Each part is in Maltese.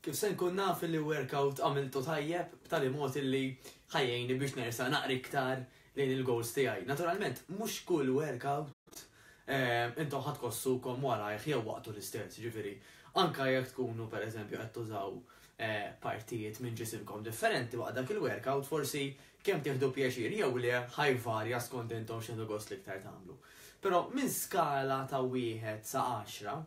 Kif se nkun naf li workout għamiltu tajjeb b'tali mod li ħa jgħinni biex nersaq naqra iktar lejn il-goals tiegħi? Naturalment, mhux kull workout intom ħa tħossukom warajh jew waqtu l-istess, ġifieri, anka jekk tkunu pereżempju qed tużaw partijiet minn ġisimkom differenti waqt dak il-workout, forsi kemm tieħdu pjaċir jew le ħa jvarja skont intom x'tieħdu gost l-iktar tagħmlu. Però minn skala ta' 1 sa 10,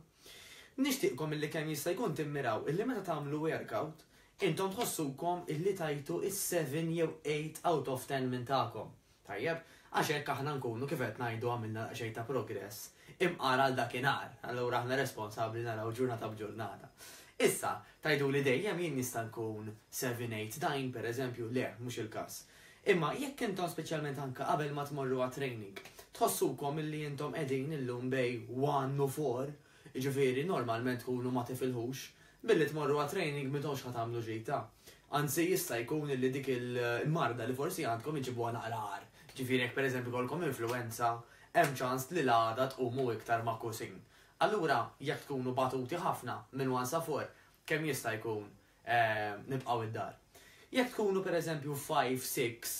nixtieqkom illi kemm jista' jkun timmiraw illi meta tagħmlu workout, intom tħossukom illi tajtu is-7 jew 8 out of 10 minn tagħkom. Tajjeb, għax hekk aħna nkunu kif qed ngħidu għamilna daqsxejn ta' progress imqar għal dakinhar, allura aħna responsabbli naraw ġurnata b'ġurnata. Issa, tgħiduli dejjem jien nista' nkun 7, 8, 9 pereżempju, le, mhux il-każ. Imma jekk intom speċjalment anke qabel ma tmorru għat-training, tħossukom illi intom qegħdin illum bejn 1 u 4, jiġifieri normalment tkunu ma tifilħux, billi tmorru għat-training m'intomx ħa tagħmlu ġid ta'. Anzi jista' jkun illi dik il-marda li forsi għandkom iġibuha naqra agħar. Ġifieri jekk pereżempju jkollkom influwenza, hemm ċans li l-għada tqumu iktar magħkusin. Allura jekk tkunu batuti ħafna minn 1 sa 4, kemm jista' jkun nibqgħu id-dar. Jekk tkunu pereżempju 5, 6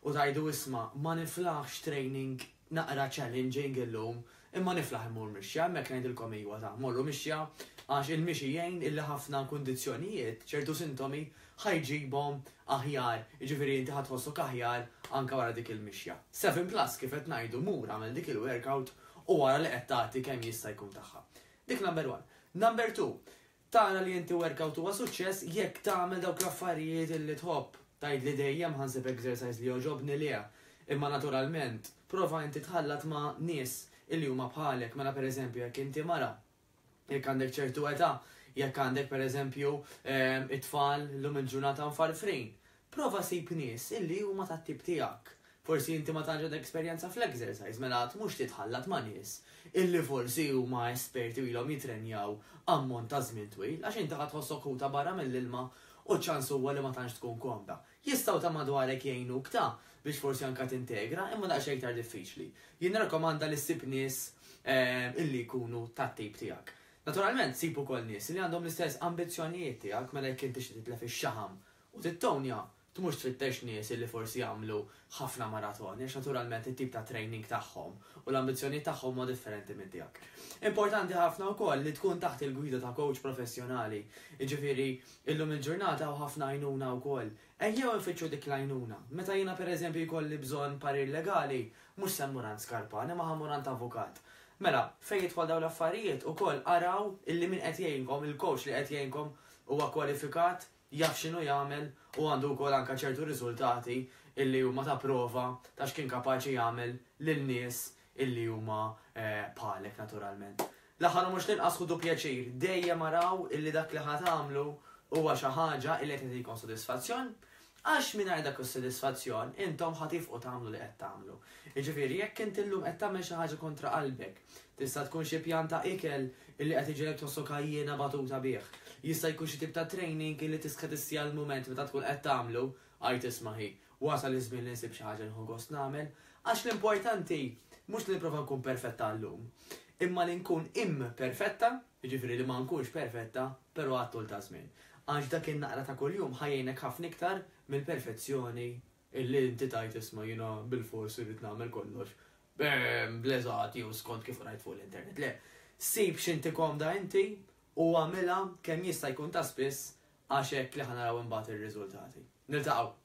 u tgħidu isma' ma niflaħx training naqra challenging illum, imma niflaħ immur mixja, hemmhekk ngħidilkom iwa ta' morru mixja għax il-mixi jgħin illi ħafna kundizzjonijiet, ċertu sintomi ħa jġibhom aħjar, jiġifieri inti ħa tħossok aħjar anke wara dik il-mixja. 7 plus kif qed ngħidu mur agħmel dik il-workout u wara li qed tagħti kemm jista' jkun tagħha. Dik number 1. Number 2, tara li inti workout huwa suċċess jekk tagħmel dawk l-affarijiet illi tħobb. Tgħidli dejjem ħa nsib exercise li jogħġobni le. Imma naturalment, prova inti tħallat ma' nies illi huma bħalek, mela pereżempju jekk inti mara, jekk għandek ċertu età, jekk għandek pereżempju it-tfal llum il-ġurnata mfarfrin, prova sib nies illi huma tat-tip tiegħek. Forsi inti ma tantx għandek esperjenza fl-exercise, mela tmurx titħallat ma' nies illi forsi huma esperti u ilhom jitrenjaw ammont ta' żmien twil, għax inti ħa tħossok ħuta barra mill-ilma u ċ-ċans huwa li ma tantx tkun komda. Jistgħu ta' madwarek jgħinuk ta' biex forsi anke tintegra, imma daqsxejn iktar diffiċli. Jien nirrakkomanda li ssib nies illi jkunu tat-tip tiegħek. Naturalment sib ukoll nies li għandhom l-istess ambizzjonijiet tiegħek, mela jekk inti tixtieq titlef ix-xaħam u tittonja, tmurx tfittex nies illi forsi jagħmlu ħafna maratoni għax naturalment it-tip ta' training tagħhom u l-ambizzjonijiet tagħhom huma differenti minn tiegħek. Importanti ħafna wkoll li tkun taħt il-gwida ta' coach professjonali, jiġifieri illum il-ġurnata hawn ħafna għajnuna wkoll. Ejjew infittxu dik l-għajnuna. Meta jiena pereżempju jkolli bżonn parir legali, mhux se mmur għand Skarpan imma ħa mmur għand avukat. Mela, fejn jidħol dawn l-affarijiet ukoll araw illi min qed jgħinkom, il-coach li qed jgħinkom huwa kwalifikat, jaf x'inhu jagħmel u għandu wkoll anke ċertu riżultati illi huma ta' prova ta' x'kien kapaċi jagħmel lil nies illi huma bħalek naturalment. L-aħħar u mhux l-inqas ħudu pjaċir, dejjem araw illi dak li ħa tagħmlu huwa xi ħaġa illi qed jagħtikom sodisfazzjon, għax mingħajr dak is-sodisfazzjon intom ħa tifqu tagħmlu li qed tagħmlu. Jiġifieri jekk inti llum qed tagħmel xi ħaġa kontra qalbek, tista' tkun xi pjan ta' ikel illi qed iġegħlek tħossok għajjiena batuta bih. Jista' jkun xi tip ta' training illi tiskadissja l-mument meta tkun qed tagħmlu, għid isma' ħi, wasal iż-żmien li nsib xi ħaġa li nieħu gost nagħmel. Għax l-importanti mhux li nipprova nkun perfetta llum, imma li nkun imperfetta, jiġifieri li ma nkunx perfetta, però għat-tul ta' żmien. Għax dak in-naqra ta' kuljum ħa jgħinek ħafna iktar mill-perfezzjoni illi inti tgħid isma' jiena bilfors irrid nagħmel kollox bl-eżatt jew skont kif qrajt fuq l-internet. Le, sib x'inti komda inti u agħmilha kemm jista' jkun ta' spiss għax hekk li ħa naraw imbagħad ir-riżultati. Niltaqgħu!